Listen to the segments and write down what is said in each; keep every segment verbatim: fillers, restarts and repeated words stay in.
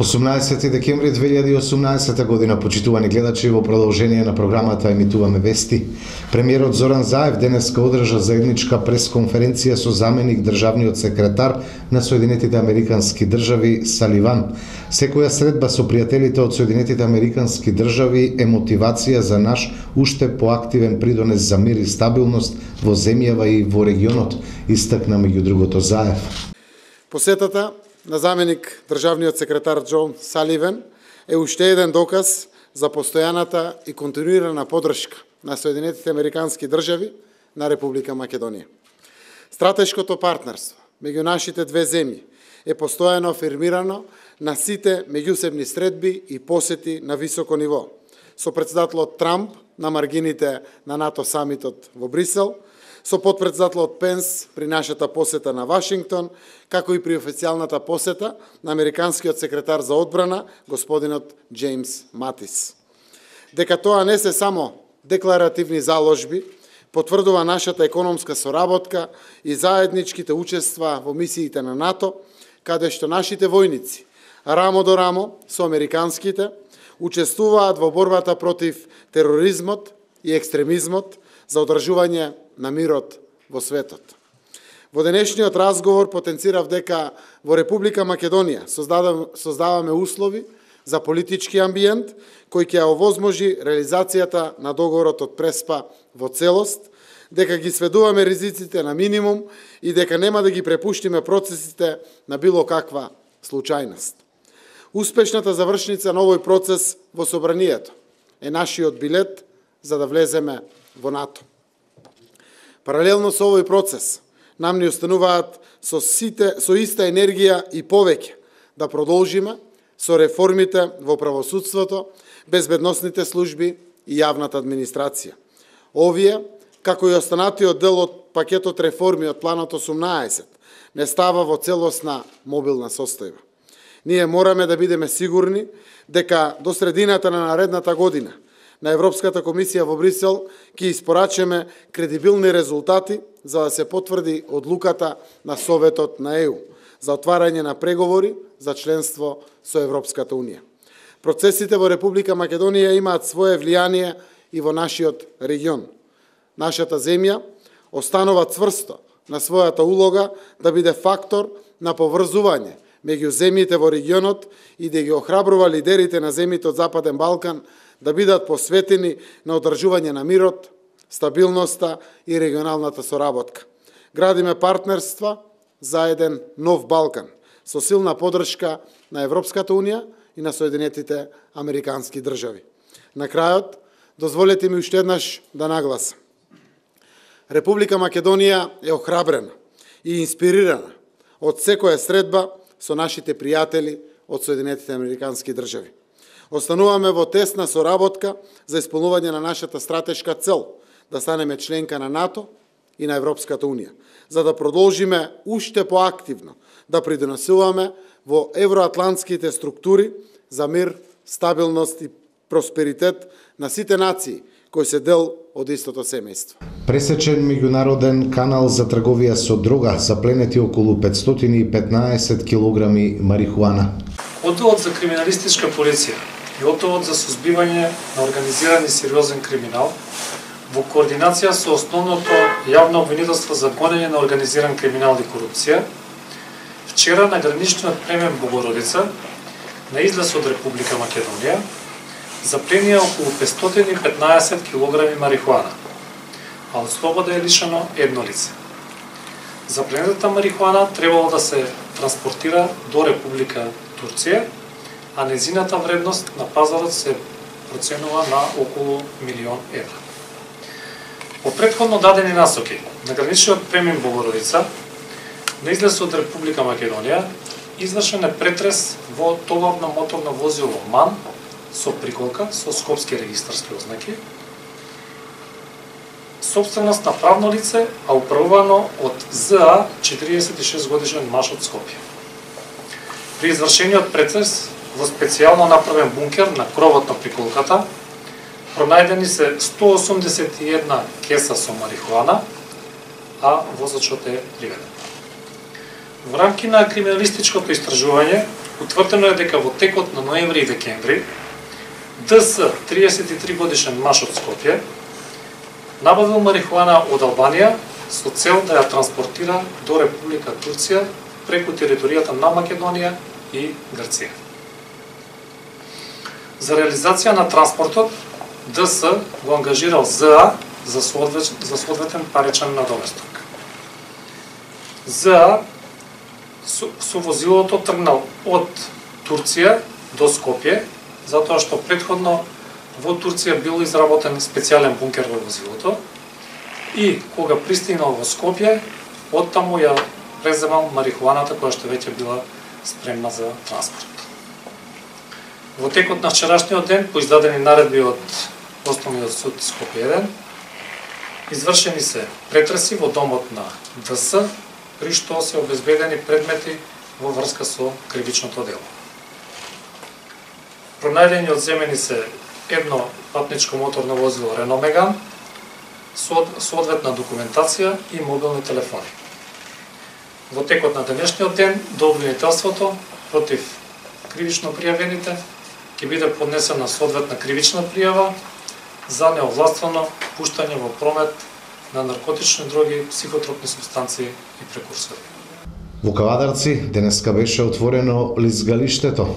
осумнаесети декември две илјади и осумнаесета година, почитувани гледачи, во продолжение на програмата емитуваме вести. Премиерот Зоран Заев денеска одржа заедничка пресконференција со заменик државниот секретар на Соединетите Американски држави Саливан. Секоја средба со пријателите од Соединетите Американски држави е мотивација за наш уште поактивен придонес за мир и стабилност во земјава и во регионот, истакна меѓу другото Заев. Посетата на заменик државниот секретар Џон Саливан е уште еден доказ за постојаната и континуирана поддршка на Соединетите Американски држави на Република Македонија. Стратешкото партнерство меѓу нашите две земји е постојано афирмирано на сите меѓусебни средби и посети на високо ниво, со претседателот Трамп на маргините на НАТО самитот во Брисел, со потпредседателот Пенс при нашата посета на Вашингтон, како и при официјалната посета на американскиот секретар за одбрана, господинот Џејмс Матис. Дека тоа не се само декларативни заложби, потврдува нашата економска соработка и заедничките учества во мисиите на НАТО, каде што нашите војници, рамо до рамо со американските, учествуваат во борбата против тероризмот и екстремизмот за одржување на мирот во светот. Во денешниот разговор потенцирав дека во Република Македонија создаваме услови за политички амбиент кој ќе овозможи реализацијата на договорот од Преспа во целост, дека ги сведуваме ризиците на минимум и дека нема да ги препуштиме процесите на било каква случајност. Успешната завршница на овој процес во собранието е нашиот билет за да влеземе во НАТО. Паралелно со овој процес, нам ни остануваат со, сите, со иста енергија и повеќе да продолжиме со реформите во правосудството, безбедносните служби и јавната администрација. Овие, како и останатиот дел од пакетот реформи од планот осумнаесет, не става во целосна мобилна состојба. Ние мораме да бидеме сигурни дека до средината на наредната година на Европската комисија во Брисел ќе испорачеме кредибилни резултати за да се потврди одлуката на Советот на ЕУ за отварање на преговори за членство со Европската Унија. Процесите во Република Македонија имаат свое влијание и во нашиот регион. Нашата земја останува цврсто на својата улога да биде фактор на поврзување меѓу земјите во регионот и да ги охрабрува лидерите на земјите од Западен Балкан да бидат посветени на одржување на мирот, стабилноста и регионалната соработка. Градиме партнерства за еден нов Балкан, со силна поддршка на Европската Унија и на Соединетите Американски држави. На крајот, дозволете ми уште еднаш да нагласам. Република Македонија е охрабрена и инспирирана од секоја средба со нашите пријатели од Соединетите Американски држави. Остануваме во тесна соработка за исполнување на нашата стратешка цел да станеме членка на НАТО и на Европската Унија, за да продолжиме уште поактивно да придонесуваме во евроатлантските структури за мир, стабилност и просперитет на сите нации кои се дел од истото семејство. Пресечен меѓународен канал за трговија со дрога, запленети околу петстотини и петнаесет килограми марихуана. Одделот за криминалистичка полиција и Одделот за сузбивање на организиран и сериозен криминал во координација со основното јавно обвинителство за гонење на организиран криминал и корупција, вчера на граничниот премин Богородица, на излез од Република Македонија, запленија околу петстотини и петнаесет килограми марихуана, а од слобода е лишено едно лице. Запленетата марихуана требало да се транспортира до Република Турција, а незината вредност на пазарот се проценува на околу милион евра. По претходно дадени насоки на граничниот премин Богородица, на излез од Република Македонија, извршен е претрес во товарно моторно возило МАН со приколка со скопски регистарски ознаки, собственост на правно лице, а управувано од ЗА четириесет и шест годишен маж од Скопје. При извршениот претрес во специјално направен бункер на кровот на приколката Пронајдени се сто осумдесет и една кеса со марихуана, а возачот е приведен. Во рамки на криминалистичкото истражување, утврдено е дека во текот на ноември и декември ДС, триесет и три годишен маж од Скопје, набавил марихуана од Албанија со цел да ја транспортира до Република Турција преку територијата на Македонија и Грција. За реализација на транспортот, ДС го ангажирал ЗА за соодветен паричен надоместок. ЗА со, со возилото тргнал од Турција до Скопје, затоа што претходно во Турција бил изработен специјален бункер во возилото и кога пристигнал во Скопје, оттаму ја преземал марихуаната која што веќе била спремна за транспорт. Во текот на вчерашниот ден, по издадени наредби од Основниот суд Скопје еден, извршени се претреси во домот на ДС, при што се обезбедени предмети во врска со кривичното дело. Пронајдени одземени се едно патничко моторно возило Рено Меган, соодветна документација и мобилни телефони. Во текот на денешниот ден, до обвинителството против кривично пријавените ќе биде поднесена соодветна кривична пријава за неовластвено пуштање во промет на наркотични дроги, психотропни супстанции и прекурсори. Во Кавадарци денеска беше отворено лизгалиштето.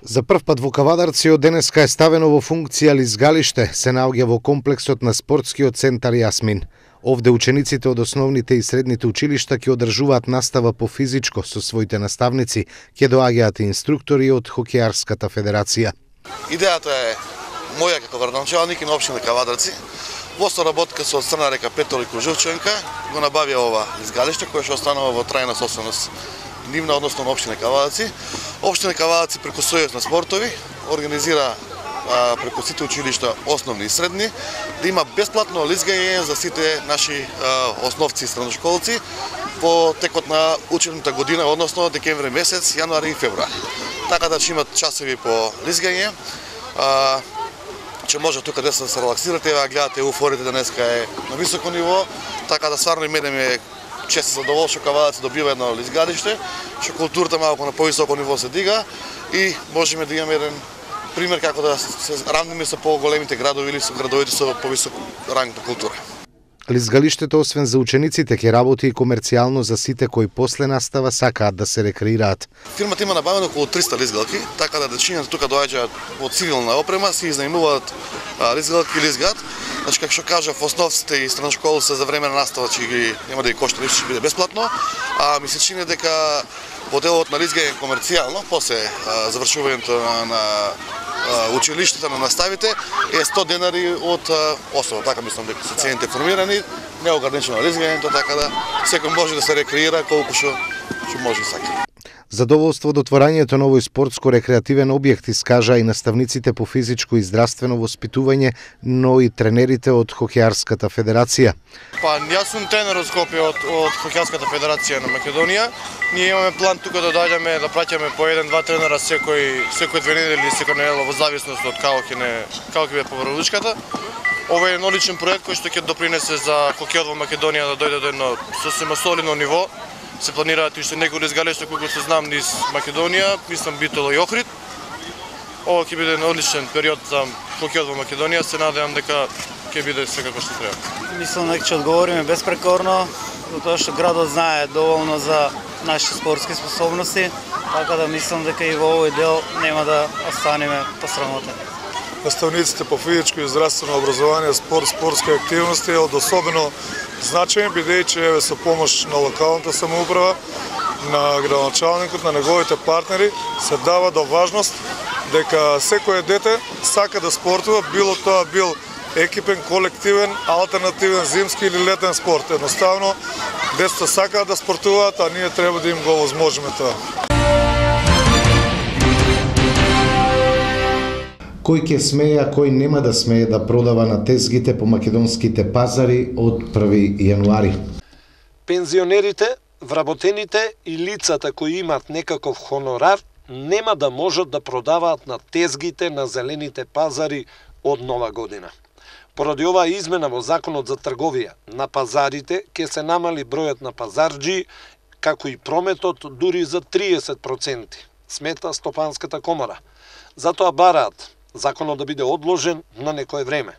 За прв пат во Кавадарци од денеска е ставено во функција лизгалиште, се наоѓа во комплексот на спортскиот центар Јасмин. Овде учениците од основните и средните училишта ќе одржуваат настава по физичко со своите наставници, ќе доаѓаат инструктори од Хокејарската федерација. Идејата е моја како градоначалник и на општина Кавадарци, во соработка со Црна река Петол и Кружевченка, го набавија ова изгалиште кое што останува во трајна собственост нивна, односно на општина Кавадарци. Општина Кавадарци преку Сојуз на спортови организира а, преку сите училишта основни и средни да има бесплатно лизгање за сите наши а, основци и средношколци по текот на учебната година, односно декември месец, јануари и февруари. Така да ќе имат часови по лизгање. А, че може тука да се релаксирате, а гледате уфорите денеска е на високо ниво, така да стварно и мене ми е чест задоволство Кавадарци добива едно лизгалиште, што културата малку на повисоко ниво се дига и можеме да имаме еден пример како да се равниме со поголемите градови или со градовите со повисок ранг на култура. Лизгалиштето, освен за учениците, ќе работи и комерцијално за сите кои после настава сакаат да се рекреираат. Фирмата има набавено околу триста лизгалки, така да дечињата тука доаѓаат од цивилна опрема, си изнајмуваат лизгалки и лизгат. Значи, како што кажав, основците и средношколците за време на настава ќе ги нема да ги кошта ништо, ќе биде бесплатно, а ми се чини дека во делот на лизгање комерцијално, после а, завршувањето на, на а, училиштата на наставите е сто денари од а, особа. Така мислам дека се цените формирани, неограничено лизгањето, така да секој може да се рекреира колку што што може и сака. Задоволство од отворањето на овој спортско-рекреативен објект искажа и наставниците по физичко и здравствено воспитување, но и тренерите од Хокејарската федерација. Па, јас сум тренер од Скопје од, од Хокејарската федерација на Македонија. Ние имаме план тука да доаѓаме да праќаме по еден-два тренера секој секој две недели или секој недела во зависност од како ќе не како ќе биде површката. Ова е еден одличен проект кој што ќе допринесе за хокејот во Македонија да дојде до едно сосема солидно ниво. Се планираат уште некои лизгалишта кои се знам низ Македонија, мислам Битола и Охрид. Ова ќе биде одличен период за хокејот во Македонија, се надевам дека ќе биде секако што треба. Мислам дека ќе одговориме безпрекорно, затоа што градот знае доволно за нашите спортски способности, така да мислам дека и во овој дел нема да останеме посрамотени. Наставниците по физичко и здравствено образование, спорт, спортски активности е од особено значај, бидејќи еве со помош на локалната самоуправа, на градоначалникот, на неговите партнери се дава до важност дека секое дете сака да спортува, било тоа бил екипен, колективен, алтернативен, зимски или летен спорт. Едноставно, децата сакаат да спортуваат, а ние треба да им го овозможиме тоа. Кој ќе смее, а кој нема да смее да продава на тезгите по македонските пазари од први јануари. Пензионерите, вработените и лицата кои имат некаков хонорар нема да можат да продаваат на тезгите на зелените пазари од нова година. Поради оваа измена во Законот за трговија на пазарите ќе се намали бројот на пазарџи, како и прометот дури за триесет проценти, смета Стопанската комора. Затоа бараат законот да биде одложен на некое време.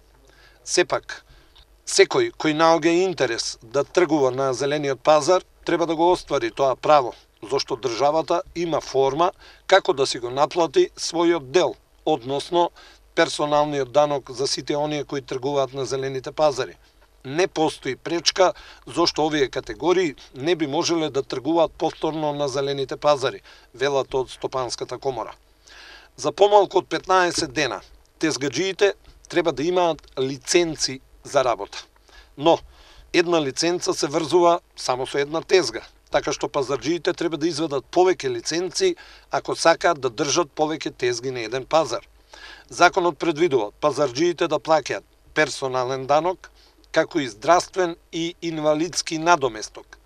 Сепак, секој кој наоѓа интерес да тргува на зелениот пазар, треба да го оствари тоа право, зашто државата има форма како да си го наплати својот дел, односно персоналниот данок за сите оние кои тргуваат на зелените пазари. Не постои пречка зашто овие категории не би можеле да тргуваат повторно на зелените пазари, велат од Стопанската комора. За помалку од петнаесет дена, тезгаджиите треба да имаат лиценци за работа. Но, една лиценца се врзува само со една тезга, така што пазарџиите треба да изведат повеќе лиценци ако сакаат да држат повеќе тезги на еден пазар. Законот предвидува пазарџиите да плаќаат персонален данок, како и здравствен и инвалидски надоместок.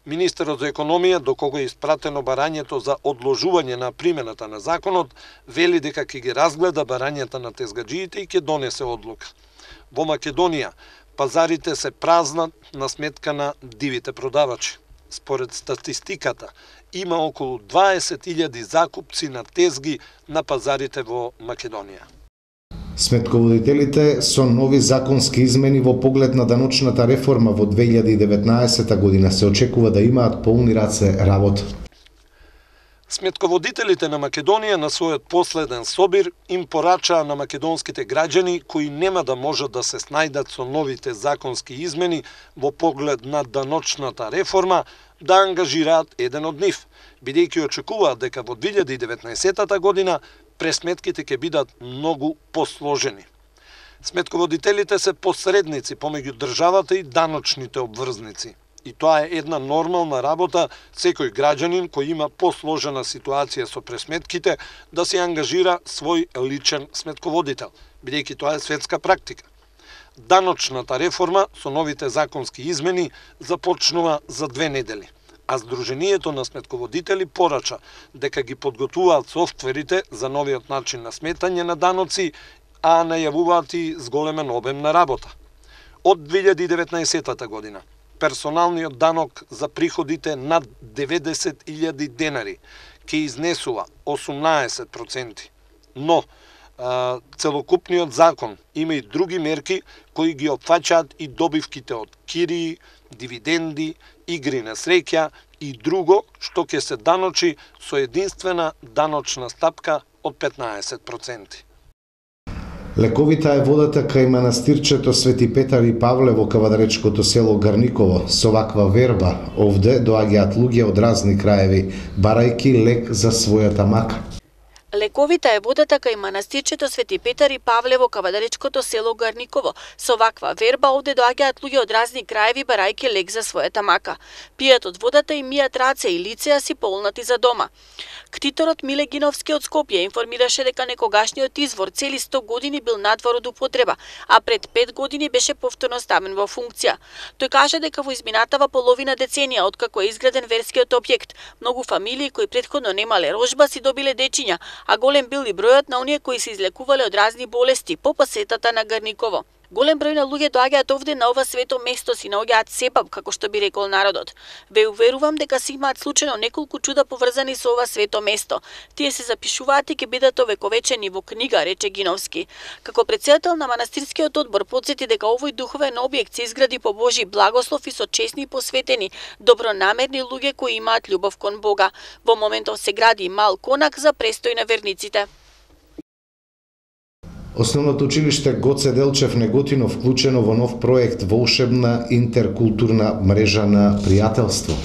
Министерот за економија, до кого е испратено барањето за одложување на примената на законот, вели дека ќе ги разгледа барањата на тезгаджиите и ќе донесе одлука. Во Македонија, пазарите се празнат на сметка на дивите продавачи. Според статистиката, има околу дваесет илјади закупци на тезги на пазарите во Македонија. Сметководителите со нови законски измени во поглед на даночната реформа во две илјади и деветнаесета година се очекува да имаат полни раце работа. Сметководителите на Македонија на својот последен собир им порачаа на македонските граѓани кои нема да можат да се снајдат со новите законски измени во поглед на даночната реформа да ангажираат еден од нив, бидејќи очекуваат дека во две илјади и деветнаесета година пресметките ќе бидат многу посложени. Сметководителите се посредници помеѓу државата и даночните обврзници. И тоа е една нормална работа секој граѓанин кој има посложена ситуација со пресметките да се ангажира свој личен сметководител, бидејќи тоа е светска практика. Даночната реформа со новите законски измени започнува за две недели, а Сдруженијето на сметководители порача дека ги подготвуваат софтверите за новиот начин на сметање на даноци, а најавуваат и зголемен обем на работа. Од две илјади и деветнаесета година персоналниот данок за приходите над деветдесет илјади денари ќе изнесува осумнаесет проценти. Но а, целокупниот закон има и други мерки кои ги опфаќаат и добивките од кирии, дивиденди, игри на среќа и друго што ќе се даночи со единствена даночна стапка од петнаесет проценти. Лековита е водата кај манастирчето Свети Петар и Павле во кавадаречкото село Гарниково. Со ваква верба, овде доаѓаат луѓе од разни краеви, барајки лек за својата мака. Лековита е водата кај манастирчето Свети Петар и Павле во кавадаречкото село Гарниково. Со ваква верба овде доаѓаат луѓе од разни краеви барајки лек за својата мака. Пијат од водата и мијат раце и лицеа си полнати за дома. Ктиторот Миле Гиновски од Скопје информираше дека некогашниот извор цели сто години бил надвор од употреба, а пред пет години беше повторно ставен во функција. Тој каже дека во изминатава половина деценија откако е изграден верскиот објект, многу фамилии кои претходно немале рожба си добиле дечиња, а голем бил и бројот на оние кои се излекувале од разни болести по посетата на Гарниково. Голем број на луѓе доаѓаат овде на ова свето место, си наоѓаат себаб, како што би рекол народот. Ве уверувам дека се имаат случајно неколку чуда поврзани со ова свето место. Тие се запишуваат и ќе бидат овековечени во книга, рече Гиновски. Како претседател на манастирскиот одбор потсети дека овој духовен објект се изгради по Божи благослов и со честни и посветени, добронамерни луѓе кои имаат љубов кон Бога. Во моментов се гради мал конак за престој на верниците. Основното училиште Гоце Делчев Неготино вклучено во нов проект волшебна интеркултурна мрежа на пријателство.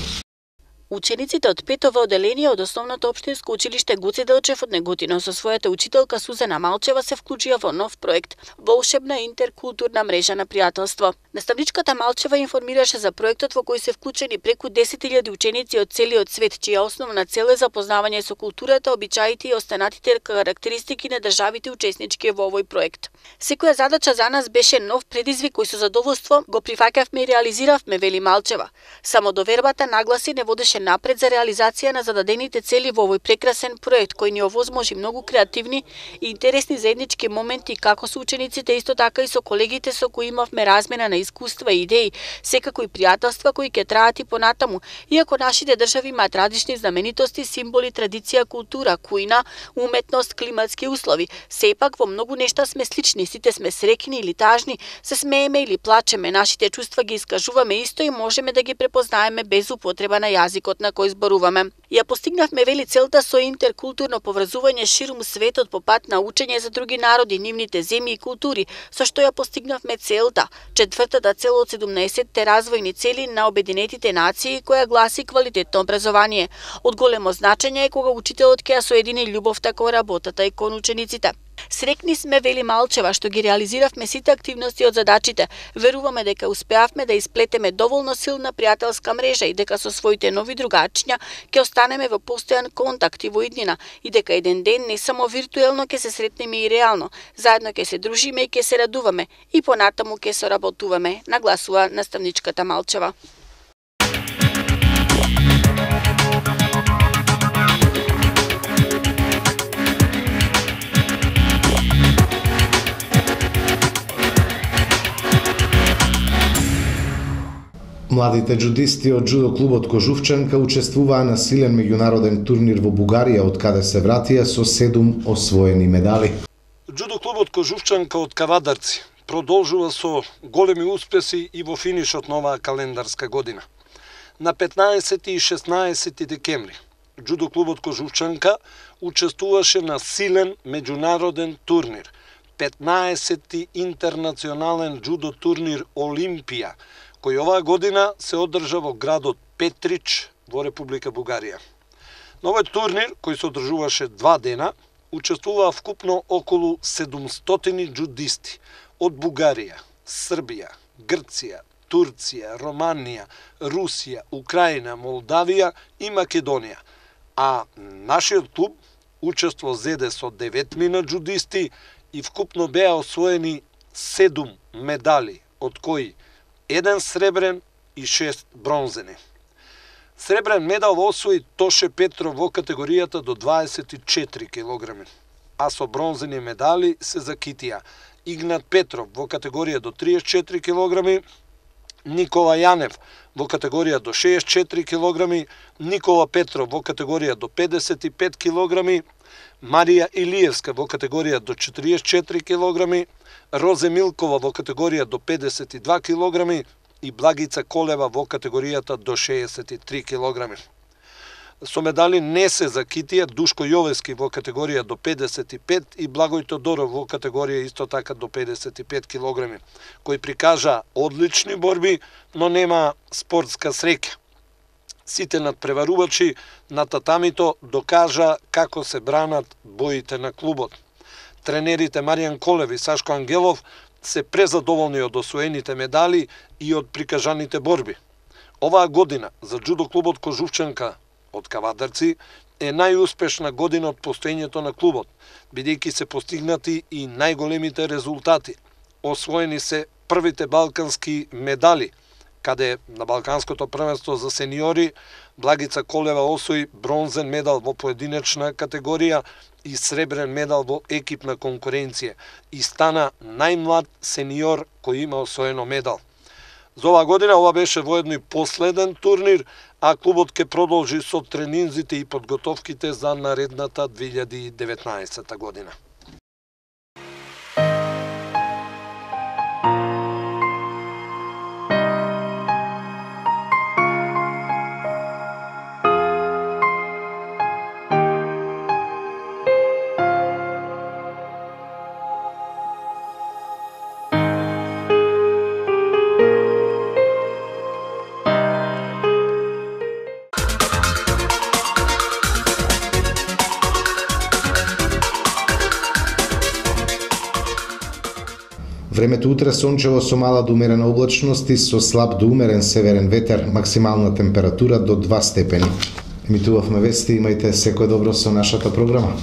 Учениците од петово оделение од Основното општинско училиште Гоце Делчев од Неготино со својата учителка Сузана Малчева се вклучија во нов проект волшебна интеркултурна мрежа на пријателство. Наставничката Малчева информираше за проектот во кој се вклучени преку десет илјади ученици од целиот свет, чија основна цел е запознавање со културата, обичаите и останатите карактеристики на државите учеснички во овој проект. Секоја задача за нас беше нов предизвик кој со задоволство го прифаќавме и реализиравме, вели Малчева. Само довербата нагласи не водеше напред за реализација на зададените цели во овој прекрасен проект кој ни овозможи многу креативни и интересни заеднички моменти како со учениците, исто така и со колегите со кои имавме размена на искуства и идеи, секако и пријателства кои ќе траат и понатаму. Иако нашите држави имаат различни знаменитости, символи, традиција, култура, кујна, уметност, климатски услови, сепак во многу нешта сме слични, сите сме среќни или тажни, се смееме или плачеме, нашите чувства ги искажуваме исто и можеме да ги препознаеме без употреба на јазикот на кој зборуваме. Ја постигнавме вели целта со интеркултурно поврзување ширум светот по пат на учење за други народи, нивните земји и култури, со што ја постигнавме целта, четвртата цел од седумнаесетте развојни цели на Обединетите нации, која гласи квалитетно образование. Од големо значење е кога учителот ќе ја соедини љубовта кон работата и кон учениците. Срекни сме, вели Малчева, што ги реализиравме сите активности од задачите. Веруваме дека успеавме да исплетеме доволно силна пријателска мрежа и дека со своите нови другачиња ќе останеме во постојан контакт и во иднина и дека еден ден не само виртуелно ќе се сретнеме и реално, заедно ќе се дружиме и ќе се радуваме и понатаму ќе соработуваме, нагласува наставничката Малчева. Младите джудисти од джудо клубот Кожувчанка учествуваа на силен меѓународен турнир во Бугарија, од каде се вратија со седум освоени медали. Джудо клубот Кожувчанка од Кавадарци продолжува со големи успеси и во финишот на оваа календарска година. На петнаесети и шеснаесети декември джудо клубот Кожувчанка учествуваше на силен меѓународен турнир, петнаесети интернационален джудо турнир Олимпија, кој оваа година се одржа во градот Петрич во Република Бугарија. На овој турнир, кој се одржуваше два дена, учествуваа вкупно околу седумстотини джудисти од Бугарија, Србија, Грција, Турција, Романија, Русија, Украина, Молдавија и Македонија. А нашиот клуб учество зеде со деветмина джудисти и вкупно беа освоени седум медали, од кои еден сребрен и шест бронзени. Сребрен медал освои Тоше Петров во категоријата до дваесет и четири килограми, а со бронзени медали се закитија Игнат Петров во категорија до триесет и четири килограми, Никола Јанев во категорија до шеесет и четири килограми, Никола Петров во категорија до педесет и пет килограми, Марија Илиевска во категорија до четириесет и четири килограми, Розе Милкова во категорија до педесет и два килограми и Благица Колева во категоријата до шеесет и три килограми. Со медали не се закитија Душко Јовески во категорија до педесет и пет и Благој Тодоров во категорија исто така до педесет и пет килограми, кои прикажа одлични борби, но нема спортска среќа. Сите надпреварувачи на татамито докажа како се бранат боите на клубот. Тренерите Маријан Колев и Сашко Ангелов се презадоволни од освоените медали и од прикажаните борби. Оваа година за джудо клубот Кожувчанка од Кавадарци е најуспешна година од постоењето на клубот, бидејќи се постигнати и најголемите резултати. Освоени се првите балкански медали, каде на Балканското првенство за сениори Благица Колева освои бронзен медал во поединечна категорија и сребрен медал во екипна конкуренција и стана најмлад сениор кој има освоено медал. За оваа година ова беше воедно и последен турнир, а клубот ќе продолжи со тренинзите и подготовките за наредната две илјади и деветнаесета година. Времето утре сончево со мала до умерена облачност и со слаб до умерен северен ветер, максимална температура до два степени. Емитувавме вести, имајте секој добро со нашата програма.